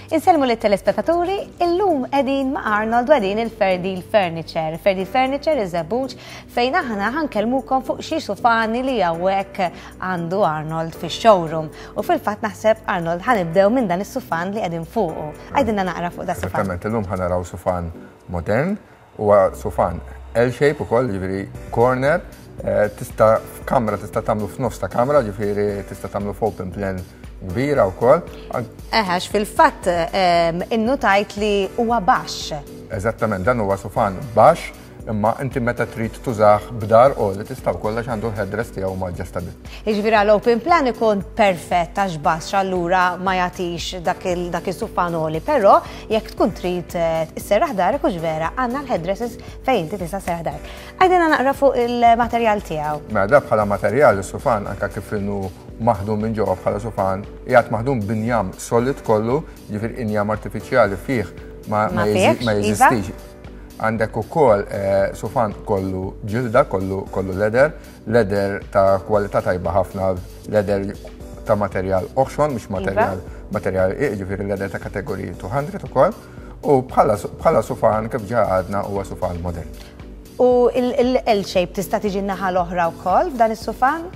Insellmu lit-telespettaturi, illum qegħdin ma' Arnold u qegħdin il-Ferdil Furniture. Ferdil Furniture iż-Żebbuġ fejn aħna ħankellmukom fuq xi sufani li hawnhekk għandu Arnold fix-showroom. U fil-fatt naħseb Arnold ħanibdew minn dan is-sufan li qegħdin fuqu. Għidilna naqra fuq da sufan. Esattament, illum ħanaraw sufan modern Huwa sufan L-shape ukoll, ġifieri corner, eh, tista' f'kamra tista' tagħmlu f'nofs ta' kamra, ġifieri tista' tagħmlu f'open plan kbira wkoll. Eħex fil-fatt ehm, innutajt li huwa baxx. Eżattament, dan huwa sufan baxx imma inti meta trid tużah b'dar u li tista' wkoll għax għandu l-headrest tiegħu ma adjustable. Jiġifieri għal open plan ikun perfett għax baxx allura ma jagħtix dak is-sufan għoli, però Jekk tkun trid eh, isserraħ darek hux vera, għandna l-headdresses fejn inti tista' serraħ darek. Għajdilna naqra fuq il-materjal tiegħu. Mela da bħala materjal is-sufan anka kif inhu maħdum minn ġewwa bħala sufan, qiegħed maħdum b'injam solid kollu, ġifier injam artifiċjali fih ma, ma, ma iva. jeżistix. Għandek ukoll eh, sufan kollu ġilda, kollu kollu leather, Leather ta' kwalità tajba ħafna, leather ta' materjal oħxon, mhux iva. materjal materjal jiġifieri leather ta' kategoriji 200 ukoll. U bħala sufan kif ġa għadna huwa sufan modern. U l-L shape tista' tiġi naħa l-oħra wkoll f'dan is-sufan?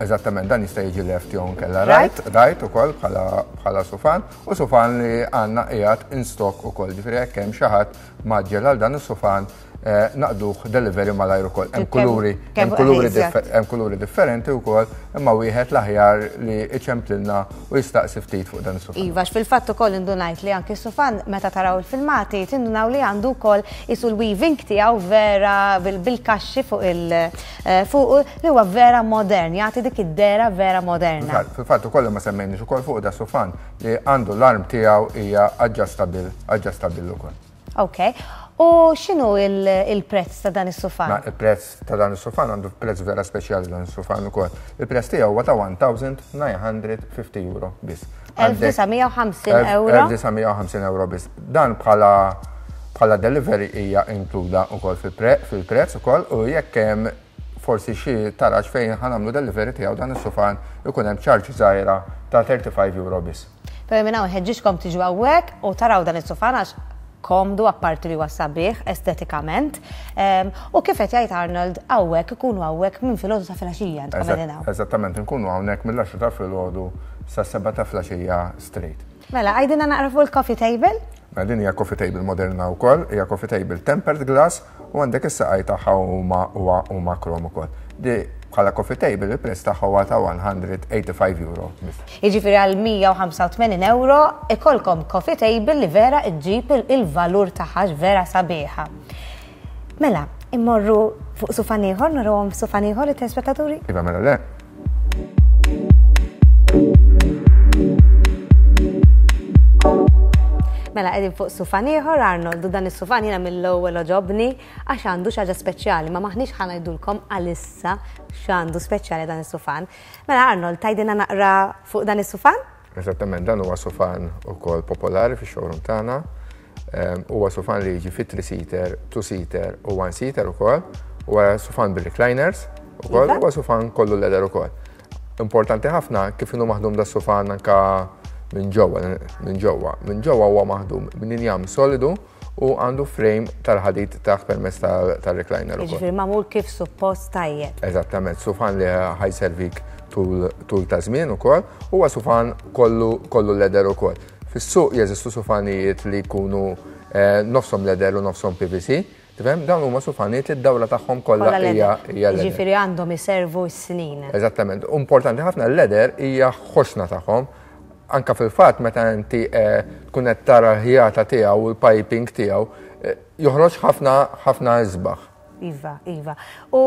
Eżattament, dan jista' jiġi left jew nkella right, right ukoll bħala sufan, u sufan li għandna qiegħed in stock ukoll, ġifieri jekk hemm xi ħadd maġġel għal dan is-sufan Eh, naqduh delivery malajr ukoll. Hemm kuluri, hemm kuluri, hemm kuluri differenti wkoll, imma wieħed l-aħjar li iċemplilna u jistaqsi ftit fuq dan is-sufan. Iva, fil-fatt ukoll indunajt li anki s-sufan meta taraw il-filmati tindunaw li għandu wkoll isu l-weaving tiegħu vera bil-kaxxi fuq il eh, fuq li huwa vera modern, jagħti dik id-dera vera moderna. Fil-fatt ukoll ma semmejniex ukoll fuq da sufan li għandu l-arm tiegħu hija adjustable, adjustable ukoll. Ok. U x'inhu il-prezz ta' dan is-sufan? Ma il-prezz ta' dan is-sufan għandu prezz vera speċjali dan is-sufan ukoll. Il-prezz tiegħu huwa ta' 1950 euro biss. 1950 euro. 1950 euro biss. Dan bħala bħala delivery hija inkluda wkoll fil-prezz ukoll u jekk hemm forsi xi taraġ fejn ħanamlu delivery tiegħu dan is-sufan ikun hemm charge żgħira ta' 35 euro biss. Pero minn hawn ħeġġiġkom tiġu hawnhekk u taraw dan is-sufan għax komdu apparti li huwa sabiħ estetikament. Ehm, u kif qed jgħid Arnold hawnhekk ikunu hawnhekk minn filgħodu sa filgħaxija intkom qegħdin hawn. Eżattament, inkunu hawnhekk mill-10 ta' filgħodu sa 7 ta' filgħaxija straight. Mela, għajdina naqra fuq il-coffee table? Mela din hija coffee table moderna wkoll, hija coffee table tempered glass u għandek is-saqaj tagħha huma huma krom ukoll. Di bħala coffee table il-prezz tagħha huwa ta' 185 euro. Jiġifieri għal 185 euro ikolkom coffee table li vera ġġib il-valur tagħha vera sabiħa. Mela, immorru fuq sufan ieħor, nurhom sufan ieħor it-telespettaturi? Iva mela le. Mela qegħdin fuq sufan ieħor Arnold u dan is-sufan jiena mill-ewwel oġobni għax għandu xi ħaġa speċjali ma maħniex ħa ngħidulkom għalissa x'għandu speċjali dan is-sufan. Mela Arnold tgħidilna naqra fuq dan is-sufan? Eżattament, dan huwa sufan ukoll popolari fix-showroom tagħna. Ehm, huwa sufan li jiġi fi 3-seater, 2-seater u 1-seater ukoll. Huwa sufan bil-recliners ukoll, iva. huwa sufan kollu leather ukoll. Importanti ħafna kif inhu maħdum da sufan anka minn ġewwa, minn ġewwa. Minn ġewwa huwa maħdum minn injam solidu u għandu frame tal-ħadid taħt permezz tal-recliner. Jiġifieri magħmul kif suppost tajjeb. Eżattament, sufan li ħajservik tul ta' żmien ukoll, huwa sufan kollu kollu leather ukoll. Fis-suq jeżistu sufanijiet li jkunu eh, nofshom leather u nofshom PVC. Tifhem? Dawn huma sufanijiet li d-dawra tagħhom kollha hija leather. Ġifieri għandhom iservu s-snin. Eżattament. Importanti ħafna l-leather hija ħoxna tagħhom. Anka fil-fatt meta inti eh, tkun qed tara l-ħjata tiegħu u l-piping tiegħu eh, joħroġ ħafna ħafna isbaħ. Iva, iva. U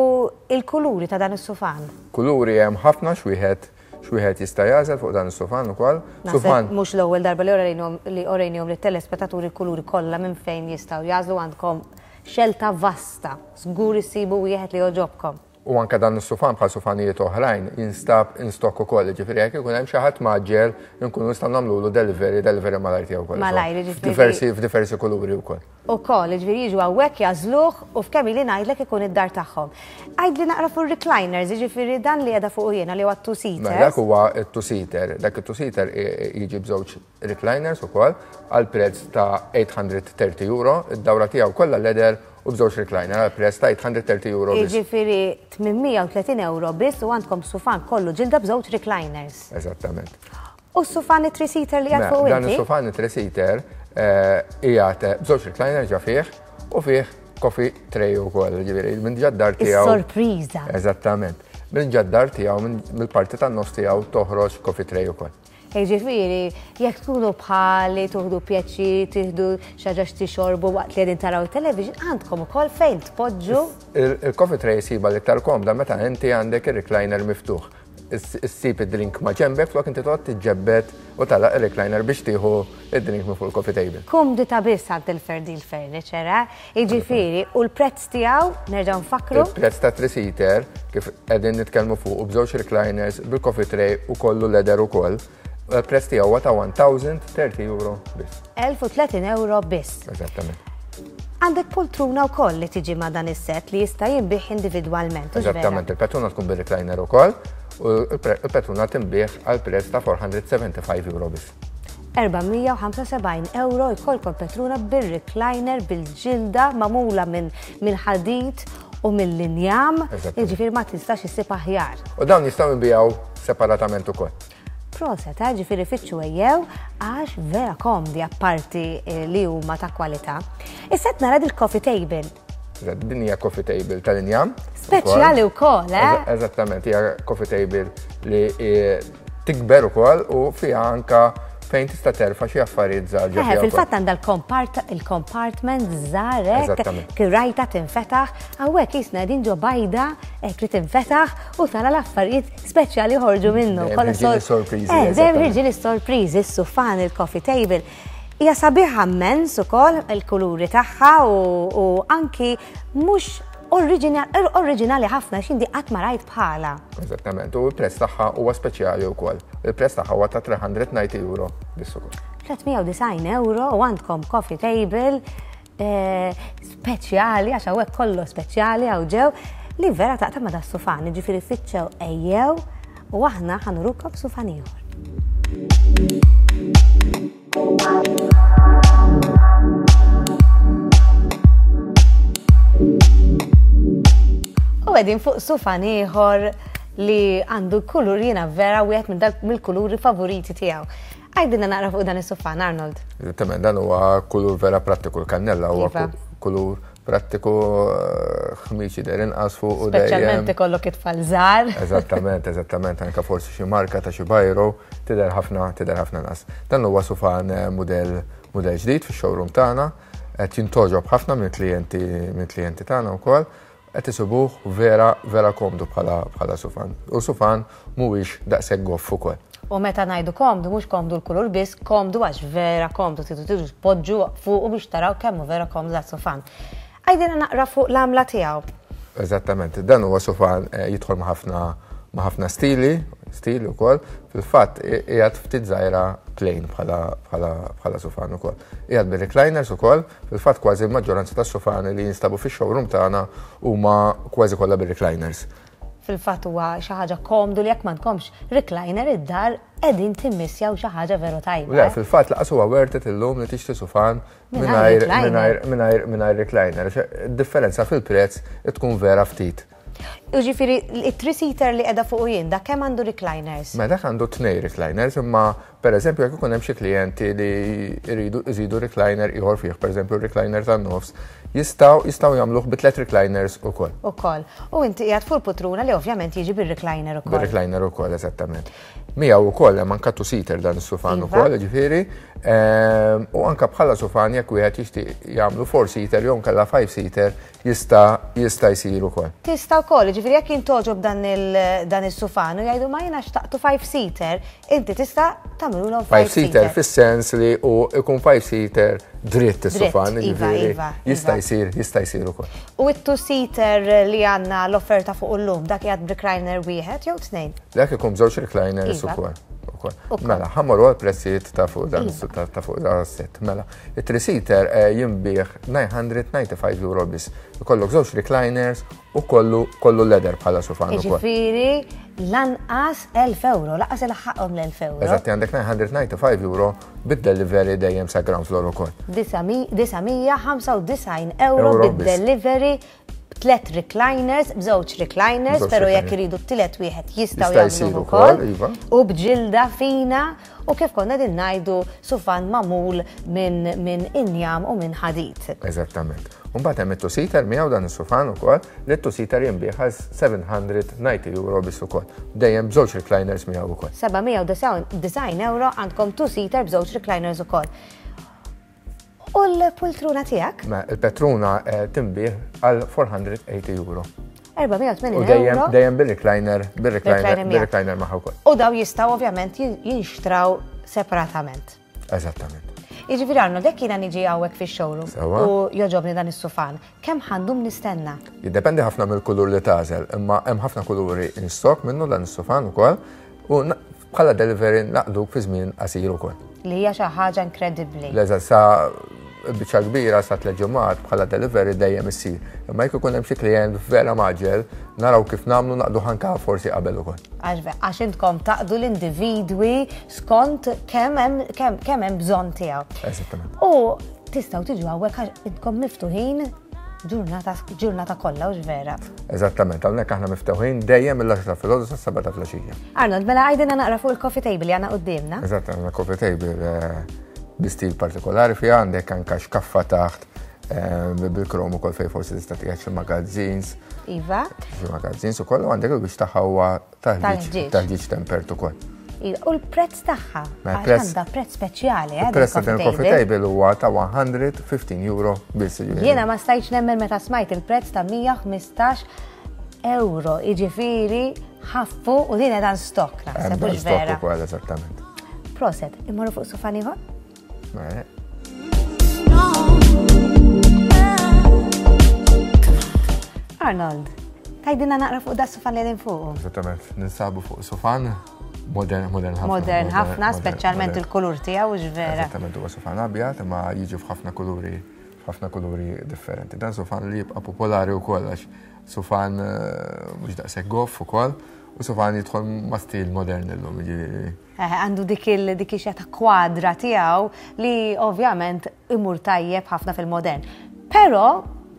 il-kuluri ta' dan is-sufan? Kuluri hemm ħafna x'wieħed X'wieħed jista' jagħżel fuq dan is-sufan ukoll. Sufan. Mhux l-ewwel darba li orejnihom lit-telespettaturi l-kuluri kollha minn fejn jistgħu jagħżlu għandkom xelta vasta. Żgur issibu wieħed li jogħġobkom. U anke dan is-sufan bħal sufanijiet oħrajn jinstab in stock ukoll, jiġifieri jekk ikun hemm xi ħadd mgħaġġel inkunu nistgħu nagħmlulu delivery, delivery malajr tiegħu wkoll. Malajr, jiġifieri. F'diversi, f'diversi kuluri wkoll. Ukoll, jiġifieri jiġu hawnhekk jagħżluh u f'kemm ili ngħidlek ikun id-dar tagħhom. Għidli naqra fuq ir-recliners, jiġifieri dan li qiegħda fuqu jiena li huwa t-two-seater. Mela dak huwa t-two-seater. Dak it-two-seater jiġi b'żewġ recliners ukoll għal prezz ta' 830 euro, id-dawra tiegħu kollha leather u b'żewġ recliner għal prezz ta' 830 euro biss. Jiġifieri 830 euro biss u għandkom sufan kollu ġilda b'żewġ recliners. Eżattament. U s-sufan it-three-seater li qiegħed fuq Dan inti? is-sufan it-three-seater eh, qiegħed eh, b'żewġ recliner ġa fih u fih coffee tray ukoll, ġifieri minn ġa d-dar tiegħu. Is-sorpriża. Eżattament. Minn ġa d-dar tiegħu mill-parti tan-nofs tiegħu toħroġ coffee tray ukoll. Jiġifieri, jekk tkunu bħali tuħdu pjaċir, tieħdu xi ħaġa x'tixorbu waqt li qegħdin taraw it-television, għandkom ukoll fejn tpoġġu. Il-coffee tray issibha l-iktar komda meta inti għandek ir-recliner miftuħ. Issib id-drink ma' ġenbek flok inti toqgħod tiġġebbed u tagħlaq ir-recliner biex tieħu id-drink minn fuq il-coffee table. Kumdità biss għand il-Ferdil Furniture, eh? Jiġifieri, u l-prezz tiegħu, nerġgħu nfakkru? Il-prezz ta' three-seater, kif qegħdin nitkellmu fuq, b'żewġ recliners, bil-coffee tray u kollu leather ukoll, il-prezz tiegħu huwa ta' 1030 euro biss. 1030 euro biss. Eżattament. Għandek poltruna wkoll li tiġi ma' dan is-set li jista' jinbigħ individwalment. Eżattament, il-poltruna tkun bir-recliner ukoll u l-poltruna tinbigħ għal prezz ta' 475 euro biss. 475 euro jkollkom petruna bir-recliner bil-ġilda magħmula minn mill-ħadid u mill-injam, jiġifieri ma tistax issib aħjar. U dawn jistgħu jinbiegħu separatament ukoll. Proset, eh, ġifieri fittxu ejjew għax vera komdi apparti eh, li huma ta' kwalità. Issa qed nara dil-coffee table. Din hija coffee table tal-injam. Speċjali wkoll, eh? Eżattament, hija coffee table li eh, tikber ukoll u fiha anka fejn tista' terfa' xi affarijiet żgħar ġo eh, Fil-fatt għandha l-compartment żgħar hekk, kirajta tinfetaħ, hawnhekk jisna qegħdin ġo bajda hekk li tinfetaħ u tara l-affarijiet speċjali ħorġu minnu. Sorpriżi. Eh, dejjem ħirġin is-sorpriżi, is-sufan, il-coffee table. Hija sabiħa mmens ukoll il-kuluri tagħha u anki mhux oriġinali ħafna x'indi qatt ma rajt bħala. Eżattament, u l-prezz tagħha huwa speċjali wkoll. Il-prezz tagħha huwa ta' 390 euro biss ukoll. 390 euro u għandkom coffee table eh, speċjali għax hawnhekk kollu speċjali hawn ġew li vera taqta' ma' das-sufan, jiġifieri fittxew ejjew u aħna ħanurukom sufan ieħor. U għedin fuq sufan ieħor li għandu kulur jiena vera wieħed minn dak mill-kuluri favoriti tiegħu. Għajdilna naqra fuq dan is-sufan, Arnold. Eżattament, dan huwa kulur vera prattiku, l-kannella huwa iva. kulur prattiku eh, ħmiġ jidher inqas fuq u dejjem. Speċjalment ikollok it-tfal żgħar. Eżattament, eżattament, anke forsi xi marka ta' xi bajro tidher ħafna, tidher ħafna inqas. Dan huwa sufan eh, mudell mudell ġdid fix-showroom tagħna, qed jintogħġob ħafna mill-klijenti mill-klijenti tagħna wkoll, qed isibuh vera vera komdu bħala bħala sufan. U sufan mhuwiex daqshekk goff ukoll. U meta ngħidu komdu, mhux komdu l-kulur biss, komdu għax vera komdu, tridu tiġu tpoġġu fuqu biex taraw kemm hu vera komdu dat sufan. Għidilna naqra fuq l-għamla tiegħu. Eżattament, dan huwa sufan eh, jidħol ma' ħafna ma' ħafna stili, stili wkoll, fil-fatt qiegħed ftit żgħira plain bħala bħala bħala sufan ukoll. Qiegħed bir-recliners ukoll, fil-fatt kważi l-maġġoranza tas-sufani li jinstabu fix-showroom tagħna huma kważi kollha bir-recliners. Fil-fatt huwa xi ħaġa komdu li jekk m'għandkomx recliner id-dar qegħdin timmissjaw xi ħaġa veru tajba. Le, fil-fatt laqas huwa worth it illum li tixtri sufan mingħajr mingħajr mingħajr recliner. Differenza fil-prezz tkun vera ftit. Jiġifieri it-three-seater li qiegħda fuqu jien, dak kemm għandu recliners? Mela dak għandu tnej recliners, imma pereżempju jekk ikun hemm xi klijenti li jridu jżidu recliner ieħor fih, pereżempju recliner tan-nofs, jistgħu jistgħu jagħmluh bi tliet recliners ukoll. Ukoll. U inti qiegħed fuq il-putruna li ovvjament jiġi bir-recliner ukoll. Bir-recliner ukoll, eżattament. Miegħu wkoll hemm anka two-seater dan is-sufan iva. ukoll, ġifieri. Ehm, u anka bħala sufan jekk wieħed jixtieq jagħmlu four-seater jew nkella five-seater jista' jista' jsir ukoll. Tista' wkoll, Jiġifieri jekk jintogħġob dan is-sufan u jgħidu ma jiena xtaqtu 5-seater, inti tista' tagħmilulhom 5-seater fis-sens li hu ikun 5-seater dritt is-sufan, iva, jiġifieri iva, jista' iva. jsir, jista' jsir ukoll. U it-two-seater li għandna l-offerta fuq illum, dak qiegħed b'recliner wieħed jew tnejn? Dak ikun b'żewġ recliners Iva. ukoll. ukoll. Ukoll. Mela, ħammorru għal prezzijiet ta' fuq dan Iva. ta' fuq dan set. Mela, it-three-seater eh, jinbih 995 euro biss. Ikollok żewġ recliners u kollu kollu leather bħala sufan ukoll. Jiġifieri lanqas 1000 euro, lanqas ilaħħaqhom l-1000 euro. Eżatt, għandek 995 euro bid-delivery dejjem sa ground floor ukoll. 995 euro Euro biss. bid-delivery b'tlet recliners, b'żewġ recliners, B'żewġ pero jekk recliners. iridu t-tielet wieħed jistgħu Jista' jsir jagħmluh ukoll, ukoll. iva. U b'ġilda fina u kif konna din ngħidu sufan magħmul minn min injam u minn ħadid. Eżattament. Mbagħad hemm it-two-seater miegħu dan is-sufan ukoll, li t-two-seater jinbiegħ għal 790 euro biss ukoll. Dejjem b'żewġ recliners miegħu ukoll. 799 euro għandkom two-seater b'żewġ recliners ukoll. U l-pultruna tiegħek? Ma il-petruna eh, tinbiegħ għal 480 euro. 480 U dejjem euro. dejjem bil-recliner, bil-recliner, Recliner miegħek. bil-recliner magħha wkoll. U daw jistgħu ovvjament jinxtraw separatament. Eżattament. Jiġifieri Arnold, jekk jiena niġi hawnhekk fix-showroom Sewwa. u jogħġobni dan is-sufan, kemm ħandum nistenna? Jiddependi ħafna mill-kulur li tagħżel, imma hemm ħafna kuluri in stock minnu dan is-sufan ukoll u bħala delivery naqduk fi żmien qasir ukoll. Li hija xi ħaġa inkredibbli. L-eżatt sa biċċa kbira sa tliet ġimgħat bħala delivery dejjem issir. Imma jekk ikun hemm xi klient vera maġel, naraw kif nagħmlu naqdu ħanka forsi qabel ukoll. Għax għax intkom taqdu l-individwi skont kemm hemm kemm kemm hemm bżonn tiegħu. Eżattament. U tistgħu tiġu hawnhekk għax intkom miftuħin ġurnata ġurnata kollha hux vera. Eżattament, hawnhekk aħna miftuħin dejjem mill-10 ta' filgħodu sas-7 ta' filgħaxija. Arnold, mela għajdilna naqra fuq il-coffee table li għandna quddiemna. Eżatt, għandna coffee table eh, bi stil partikolari fiha għandek anka xkaffa taħt eh, bil-krom ukoll fejn forsi tista' tqiegħed xi magazines, Iva. xi magazines ukoll u għandek il-biex tagħha huwa Tal-ħġieġ. tal-ħġieġ tal-ħġieġ tempert ukoll. Iva. U l-prezz tagħha. Ma Għax prezz- għandha prezz speċjali, eh, Il-prezz ta' din din il-coffee table huwa ta' 115 euro biss. jiġifieri. Jiena ma stajtx nemmen meta smajt il-prezz ta' 115 euro, jiġifieri ħaffu u din dan stock Hemm naħseb dan hux stock vera. ukoll eżattament. Proset, immorru fuq sufan ieħor? Mela, Arnold, tajdilna naqra fuq da sufan li qegħdin fuqu. Eżattament, ninsabu fuq sufan modern, modern ħafna. Modern ħafna, speċjalment modern. il-kulur tiegħu hux vera. Eżattament huwa sufan abjad imma jiġi f'ħafna kuluri f'ħafna kuluri differenti. Dan sufan li jibqa' popolari wkoll għax sufan eh, mhux daqshekk goff ukoll u sufan jidħol ma' stil modern illum jiġifieri. Eh, Għandu dik il dik ix ta' kwadra tiegħu li ovvjament imur tajjeb ħafna fil-modern. Però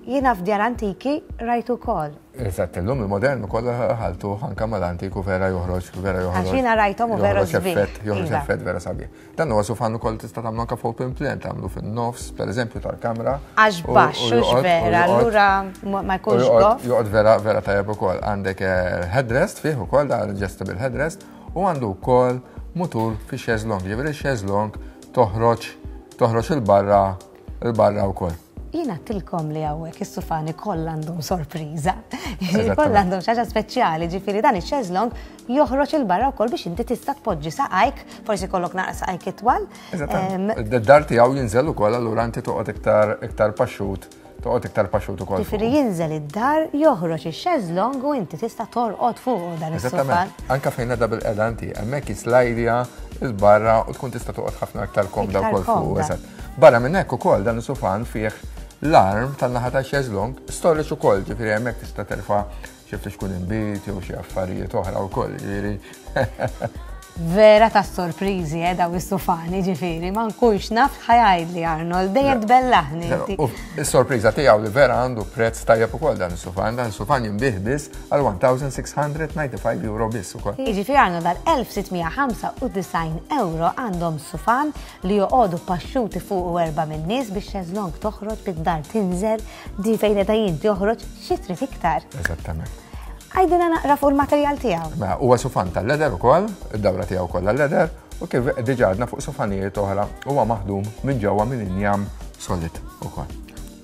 jiena f'djar antiki rajtu ukoll. Eżatt, illum il-modern ukoll ħaltu anke mal-antiku vera joħroġ, vera joħroġ. Għax jiena rajthom u vera joħroġ sbieħ. effett, joħroġ Iva. effett vera sabiħ. Dan huwa sufan ukoll tista' tagħmlu anke f'open plan, tagħmlu fin-nofs, pereżempju tal-kamra. Għax u- baxx, u hux joqgħod- u vera, joqgħod- allura ma ma U jkunx joqgħod goff. joqgħod vera vera tajjeb ukoll. Għandek eh, headrest fih ukoll da adjustable headrest u għandu wkoll mutur fi chaise longue. Ġifieri chaise longue toħroġ toħroġ il-barra il-barra wkoll. Jiena tilkom li hawnhekk is-sufani kollha għandhom sorpriża. Eżattament. Kollha għandhom xi ħaġa speċjali, ġifieri dan ix-chaise longue joħroġ il-barra wkoll biex inti tista' tpoġġi saqajk, forsi kollok naqra saqajk itwal. Ehm, Eżattament. Id-dar tiegħu jinżel ukoll allura inti toqgħod iktar iktar paxxut, toqgħod iktar paxxut ukoll. Ġifieri jinżel id-dar, joħroġ ix-chaise longue u inti tista' torqod fuq dan is-sufan. Eżattament. Anka fejn edha bil-qeda inti, hemmhekk jislajdja il-barra u tkun tista' toqgħod ħafna aktar komda Iktar wkoll fuq. komda. Eżatt. Barra minn hekk ukoll dan is-sufan fih l-arm tan-naħa ta' chaise longue storage ukoll, ġifieri hemmhekk tista' terfa' xi ftit xkun inbit jew xi affarijiet oħra wkoll, ġifieri. Vera ta' sorpriżi eh, daw is-sufani ġifieri, ma nkunx naf ħajajdli Arnold, dejjem tbellaħni inti. U Is-sorpriża tiegħu li vera għandu prezz tajjeb ukoll dan is-sufan, dan is-sufan jinbih biss għal 1695 euro biss ukoll. Jiġifieri Arnold għal 1695 euro għandhom sufan li joqogħdu paxxuti fuq u erba' minn nies biex chaise longue toħroġ bid-dar tinżel, di fejn qed inti joħroġ xi trid iktar. Eżattament. Għajdilna naqra fuq il-materjal tiegħu. Mela, huwa sufan tal-leder ukoll, id-dawra tiegħu kollha leder, u kif diġà għadna fuq sufanijiet oħra huwa maħdum minn ġewwa minn injam solid ukoll.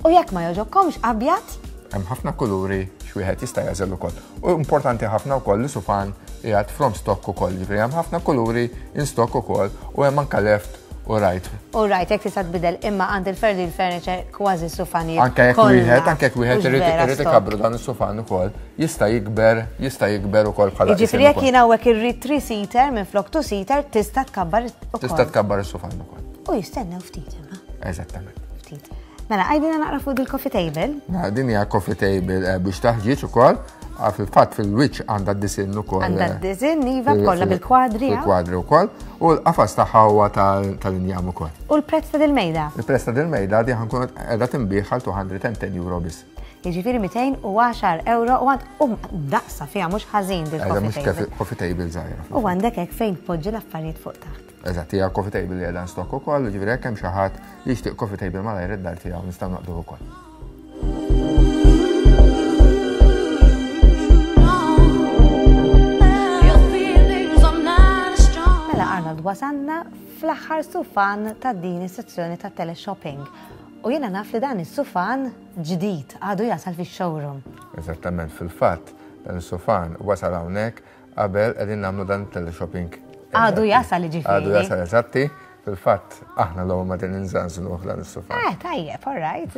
U jekk ma joġobkomx abjad, Hemm ħafna kuluri x'wieħed jista' jagħżel ukoll. U importanti ħafna wkoll li sufan qiegħed from stock ukoll, jiġifieri hemm ħafna kuluri in stock ukoll u hemm anke left u right. U right, jekk tista' tbidel imma għand il-Ferdil Furniture kważi sufanijiet. Anke jekk wieħed, anke jekk wieħed irid ikabru dan is-sufan ukoll, jista' jikber, jista' jikber ukoll bħala. Jiġifieri jekk jien hawnhekk irrid three seater minn flok two seater tista' tkabbar ukoll. Tista' tkabbar is-sufan ukoll. U jistennew ftit imma. Eżattament. Ftit. Mela, għajdina naqra fuq il-coffee table. Mela, din hija coffee table eh, biex taħġieġ ukoll. Ah, fil-fatt fil-wiċċ għandha d-disin ukoll. Għandha eh, d-disin, iva, kollha bil-kwadri. Bil-kwadri wkoll. U l-qafas tagħha huwa tal-injam ukoll. U l-prezz ta' dil-mejda? Il-prezz ta' dil-mejda di ħankun qiegħda tinbih għal 210 euro biss. Jiġifieri 210 euro u għand um daqsa fiha mhux ħażin dil-coffee table. Coffee table żgħira. U għandek hekk fejn tpoġġi l-affarijiet fuq taħt. Eżatt, hija coffee table li qiegħda stock ukoll, jiġifieri jekk hemm xi ħadd li jixtieq coffee table malajr id-dar tiegħu nistgħu naqduh ukoll. Mela Arnold wasanna fl-aħħar sufan ta' din is-sezzjoni ta' teleshopping. U jiena naf li dan is-sufan ġdid għadu jasal fix-showroom. Eżattament, fil-fatt dan is-sufan wasal hawnhekk Qabel qegħdin nagħmlu dan teleshopping. Għadu jasal ġifieri. Għadu jasal eżatti. Fil-fatt aħna l-ewwel ma din inżanżlu dan is-sufan. Eh, tajjeb, all right.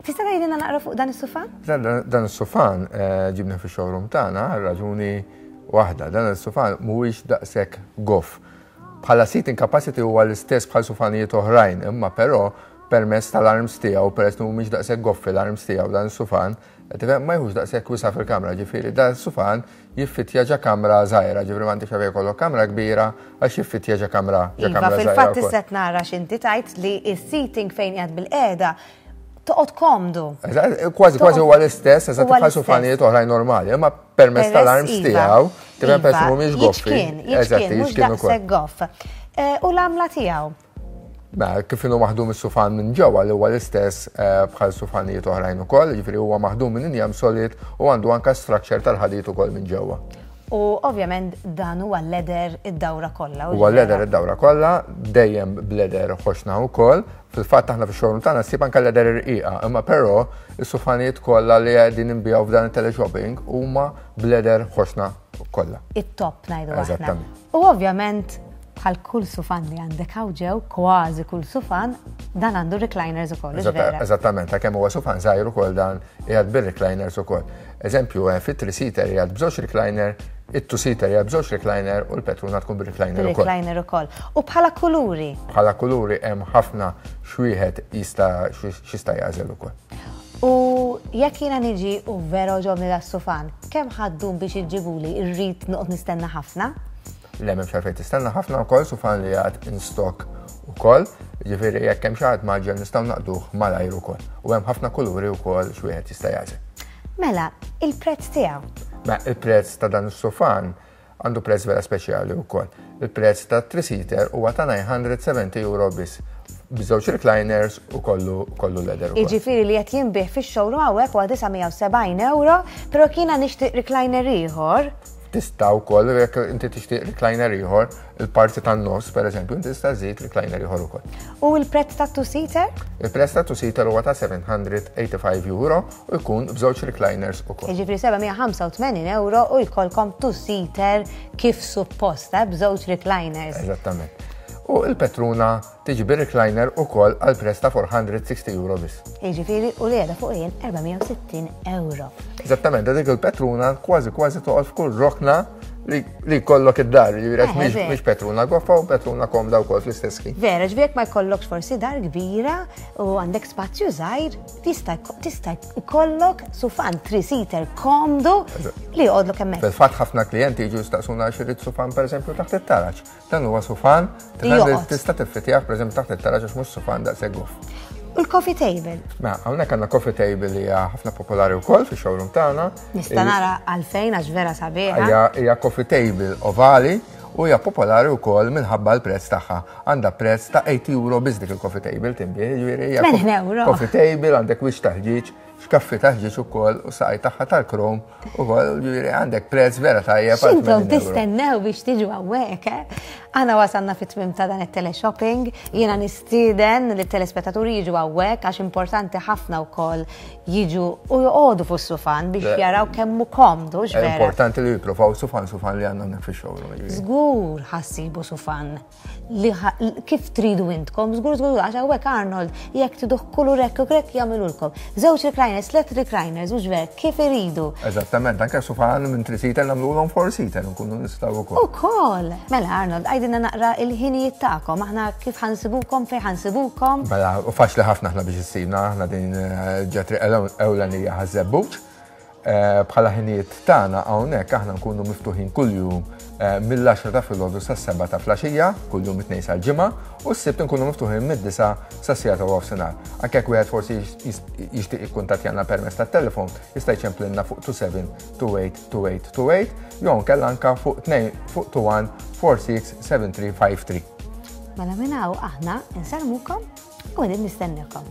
Tista' tgħidilna naqra fuq dan is-sufan? Dan is-sufan eh, ġibna fix-showroom tagħna raġuni waħda. Dan is-sufan mhuwiex daqshekk goff. Bħala seating capacity huwa l-istess bħal sufanijiet oħrajn, imma però permezz tal-arms tiegħu, peress li mhumiex daqshekk goffi l-arms tiegħu dan is-sufan, Tifhem ma jħux daqshekk wisa' fil-kamra, ġifieri da sufan jiffittja ġa kamra żgħira, ġifieri m'għandekx għalfejn jkollok kamra kbira għax jiffittja ġa kamra ġa iva, kamra żgħira. Fil-fatt tista' nara x'inti tgħid li s-seating fejn qiegħed bil-qiegħda toqgħod komdu. Kważi kważi huwa l-istess, eżatt bħal sufanijiet oħrajn normali, imma permezz tal-arms iva. tiegħu, tifhem peress iva, mhumiex goffi. Eżatt, jiċkien ukoll. Goff. Eh, u l-għamla tiegħu. Mela, kif inhu maħdum is-sufan minn ġewwa li huwa l-istess eh, bħal sufanijiet oħrajn ukoll, jiġifieri huwa maħdum minn injam solid u għandu anka structure tal-ħadid ukoll minn ġewwa. U ovvjament dan huwa leather id-dawra kollha. Huwa leather id-dawra kollha, dejjem b'leather ħoxna wkoll. Fil-fatt aħna fix-showroom tagħna ssib anke leather irqiqa, imma però is-sufanijiet kollha li qegħdin inbiegħu f'dan it-teleshopping huma b'leather ħoxna kollha. It-top ngħidu aħna. U ovvjament bħal kull sufan li għandek hawn ġew, kważi kull sufan, dan għandu recliners ukoll. Eżattament, ta' kemm huwa sufan żgħir ukoll dan qiegħed bir-recliners ukoll. Eżempju, eh, fit-three-seater qiegħed b'żewġ recliner, it-two-seater qiegħed b'żewġ recliner u l-petruna tkun bir-recliner ukoll. Recliner ukoll. U bħala kuluri? Bħala kuluri hemm ħafna xwieħed jista' x'jista' jagħżel ukoll. U jekk jiena niġi u vera ġobni da sufan, kemm ħaddum biex iġġibuli irrid noqgħod nistenna ħafna? Le m'hemmx għalfejn tistenna ħafna wkoll sufan li għad in stock ukoll, ġifieri jekk hemm xi ħadd maġġel nistgħu naqduh malajr ukoll. U hemm ħafna kuluri wkoll x'wieħed jista' jagħżel. Mela, il-prezz tiegħu. Mela, il-prezz ta' dan is-sufan għandu prezz vera speċjali wkoll. Il-prezz ta' three-seater huwa ta' 970 euro biss b'żewġ recliners u kollu kollu leather. Jiġifieri li qed jinbih fix-showroom hawnhekk huwa 970 euro, però kiena nixtieq recliner ieħor. Tista' wkoll jekk inti tixtieq recliner ieħor, il-parti tan-nofs pereżempju, inti tista' żid recliner ieħor ukoll. U l-prezz ta' two-seater? Il-prezz ta' two-seater huwa ta' 785 euro u jkun b'żewġ recliners ukoll. Jiġifieri 785 euro u jkollkom two-seater kif suppost, eh, b'żewġ recliners. Eżattament. U il-Petruna Tiġi bir-recliner ukoll għal prezz ta' 460 euro biss. Jiġifieri u li qiegħda fuq jien 460 euro. Eżattament, dik il-petruna kważi kważi toqgħod f'kull rokna li jkollok id-dar, jiġifieri għax eh, mhix petruna goffa u petruna komda wkoll fl-istess ħin. Vera, ġifieri jekk ma jkollokx forsi dar kbira u għandek spazju żgħir, tista' tista' jkollok sufan three-seater komdu li joqgħodlok hemmhekk. Fil-fatt ħafna klijenti jiġu jistaqsuna xi jrid sufan pereżempju taħt it-taraġ. Dan huwa sufan, tista' tiffitih pereżempju taħt it-taraġ għax mhux sufan daqshekk goff. U l-coffee table? Mela, hawnhekk għandna coffee table li hija ħafna popolari wkoll fix-showroom tagħna. Nista' nara għalfejn għax vera sabiħa. Hija coffee table ovali u hija popolari wkoll minħabba l-prezz tagħha. Għandha prezz ta' 80 euro biss dik il-coffee table tinbih, jiġifieri hija 80 euro. Coffee table għandek wix taħġiġ, xkaffi taħġiġ ukoll u saqaj tagħha tal-krom U ġifieri għandek prezz vera tajjeb. X'intom tistennew biex tiġu hawnhekk, eh? Aħna wasalna fit-tmiem ta' dan it-teleshopping. Jiena nistieden li telespettaturi jiġu hawnhekk għax importanti ħafna wkoll jiġu u joqogħdu fuq sufan biex jaraw kemm hu komdu x'vera. Importanti li jippruvaw sufan sufan li għandna fix-showroom. Żgur ħassibu sufan li kif tridu intkom, żgur żgur għax hawnhekk Arnold jekk triduh kulur hekk u hekk jagħmilulkom. Żewġ recliners, tliet recliners, hux ver, kif iridu. Eżattament, anke sufan minn three-seater nagħmluhom four-seater nkunu nistgħu wkoll. Ukoll. Mela Arnold, għidilna naqra il-ħinijiet tagħkom, aħna kif ħa nsibukom, fejn ħa nsibukom? Mela, u faċli ħafna aħna biex issibna, aħna din eh, ġa triq ewlenija Ħaż-Żebbuġ. Eh, bħala ħinijiet tagħna hawnhekk aħna nkunu miftuħin kuljum eh, mill-10 ta' filgħodu sas-7 ta' flaxija, kuljum it-tnejn sal-ġimgħa, u s-sibt nkunu miftuħin mid-9 sas-siegħa ta' nofsinhar. Anke jekk wieħed forsi jixtieq jikkuntattjana permezz tat-telefon, jista' jċemplilna fuq 27 28 28 28 jew nkella anka fuq 2 fuq 21 46 7353. Mela minn hawn aħna nsellmukom U qegħdin nistennikom.